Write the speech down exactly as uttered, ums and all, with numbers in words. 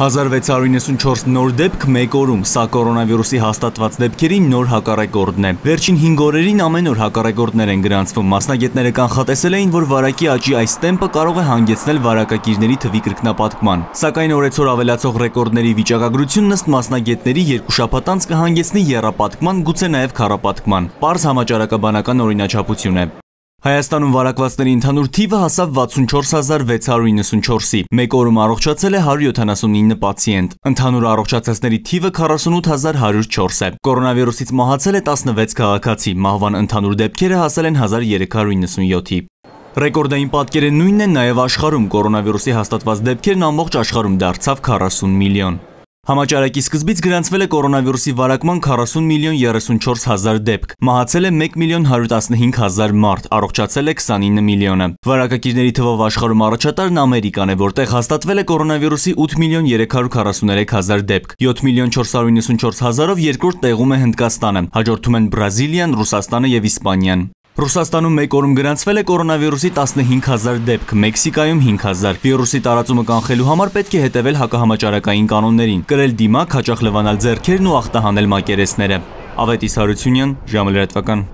հազար վեց հարյուր իննսունչորս նոր դեպք մեկ օրում, սա կորոնավիրուսի հաստատված դեպքերի նոր հակառեկորդն է։ Վերջին հինգ օրերին ամեն օր հակառեկորդներ են գրանցվում։ Մասնագետները կանխատեսել էին, որ վարակի աճի այս տեմպը կարող է հանգեցնել վարակագիրների թվի կրկնապատկման։ Սակայն օրեցօր ավելացող ռեկորդների վիճակագրությունն ըստ մասնագետների երկու շաբաթ անց կհանգեցնի եռապատկման, գուցե նաև քառապատկման։ Պարզ համաճարակաբանական օրինաչափություն է։ Հայաստանում վարակվածների ընդհանուր թիվը հասավ վաթսունչորս հազար վեց հարյուր իննսունչորսի, մեկ օրում առողջացել է հարյուր յոթանասունինը պացիենտ, ընդհանուր առողջացածների թիվը քառասունութ հազար հարյուր չորս է, կորոնավիրուսից մահացել է տասնվեց քաղաքացի, մահվան ընդհանուր դեպքերը հասել են հազար երեք հարյուր իննսունյոթի։ Ռեկորդային պատկերը նույնն են նաև աշխարհում, կորոնավիրուսի հաստատված դեպքերն ամբողջ աշխարհում դարձավ քառասուն միլիոն։ Համաճարակի սկզբից գրանցվել է կորոնավիրուսի վարակման քառասուն միլիոն երեսունչորս հազար դեպք, մահացել է մեկ միլիոն հարյուր տասնհինգ հազար մարդ, առողջացել է քսանինը միլիոնը։ Վարակագիրների թվով աշխարհում առաջատարն Ամերիկան է, որտեղ հաստատվել է կորոնավիրուսի ութ միլիոն երեք հարյուր քառասուներեք հազար դեպք, յոթ միլիոն չորս հարյուր իննսունչորս հազարով երկրորդ տեղում է Հնդկաստանը, հաջորդում են Բրազիլիան, Ռուսաստանը և Իսպանիան։ Ռուսաստանում մեկ օրում գրանցվել է կորոնավիրուսի տասնհինգ հազար դեպք, Մեքսիկայում հինգ հազար։ Վիրուսի տարածումը կանխելու համար պետք է հետևել հակահամաճարակային կանոններին, կրել դիմակ, հաճախ լվանալ ձեռքերն ու ախտահանել մակերեսները։ Ավետիս Հարությունյան, ժամը լրատվական։